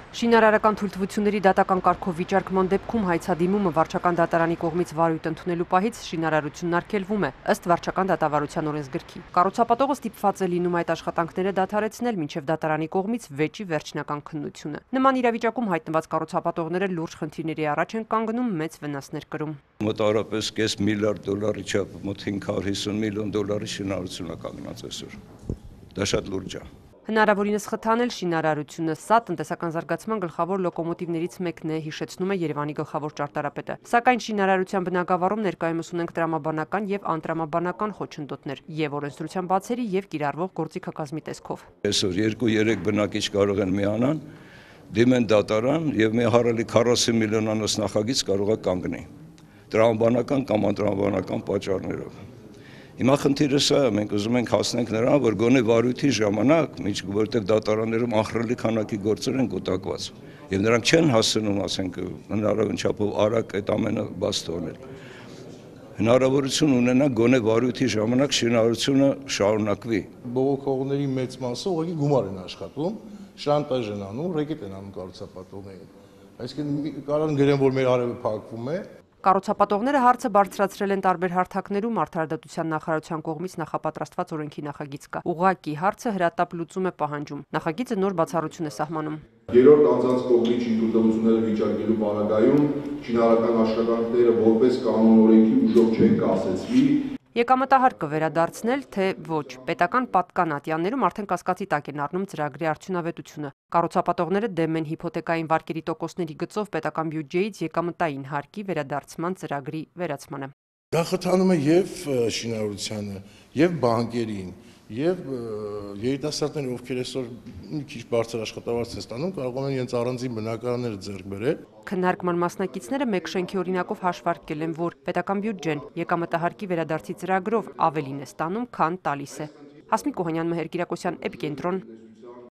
Շինարարական թույլտվությունների դատական կարգով վիճարկման դեպքում հայցադիմումը վարչական դատարանի կողմից վարույթ ընդունելու պահից շինարարությունն արգելվում է, ըստ վարչական դատավարության օրենսգրքի։ Կառուցապատողը ստիպված է լինում այդ աշխատանքները դադարեցնել մինչև դատարանի կողմից վեճի վերջնական քննությունը։ Նման իրավիճակում հայտնված կառուցապատողները լուրջ խնդիրների առաջ են կանգնում, մեծ վնասներ կրում։ Մոտավորապես $500 միլիարդ չափ, մոտ $550 միլիոն շինարարություն է կանգնած այսօր։ Դա շատ լուրջ է։ Հնարավորինս խթանել շինարարությունը, սա տնտեսական զարգացման գլխավոր լոկոմոտիվներից մեկն է, հիշեցնում է Երևանի գլխավոր ճարտարապետը։ Սակայն շինարարության բնագավառում ներկայումս ունենք տրամաբանական եւ անտրամաբանական խոչընդոտներ եւ օրենսդրության բացերի եւ կիրառվող գործիքակազմի տեսքով։ Այսօր 2-3 բնակիչ կարող են միանան, դիմեն դատարան եւ մի հարելի 40 միլիոնանոց նախագիծ կարող է կանգնի տրամաբանական կամ անտրամաբանական պատճառներով։ Հիմա խնդիրը սա է, մենք ուզում ենք հասնենք նրան, որ գոնե վարույթի ժամանակ, որտեղ դատարաններում ահռելի քանակի գործեր են կուտակված, եւ նրանք չեն հասնում, ասենք, հնարավորին չափով արագ այդ ամենը բաց թողնել։ Հնարավորություն ունենա գոնե վարույթի ժամանակ շինարարությունը շարունակվի։ Բողոքողների մեծ մասը ուղղակի գումար են աշխատում, շանտաժ են անում, ռեկետ են անում կառուցապատողներին։ Այսինքն կարող են գրեն, որ մեր արևը փակվում է։ Կառուցապատողները հարցը բարձրացրել են տարբեր հարթակներում, Արդարադատության նախարարության կողմից նախապատրաստված օրենքի նախագիծ կա։ Ուղղակի հարցը հրատապ լուծում է պահանջում։ Նախագիծը նոր բացառություն է սահմանում։ Երրորդ անձանց կողմից շինթույլտվությունները վիճարկելու պարագայում շինարարական աշխատանքները որպես կանոն օրենքի ուժով չեն կասեցվի։ Եկամտահար կվերադարձնել, թե ոչ, պետական պատկանատյաններում արդեն կասկածի տակ են առնում ծրագրի արդյունավետությունը։ Կառուցապատողները դեմ են հիփոթեկային վարկերի տոկոսների գծով պետական բյուջեից եկամտային հարկի վերադարձման ծրագրի վերացմանը։ Դա խթանում է եւ շինարարությանը, եւ բանկերին, եւ երիտասարդները, ովքեր այսօր մի քիչ բարձր աշխատավարձ են ստանում, կարող են իրենց առանձին բնակարանները ձեռք բերել։ Քննարկման մասնակիցները մեկ շենքի օրինակով հաշվարկել են, որ պետական բյուջեն եկամտահարկի վերադարձի ծրագրով ավելին է ստանում, քան տալիս է։ Հասմիկ Օհանյան, Մհեր Կիրակոսյան, Էպիկենտրոն։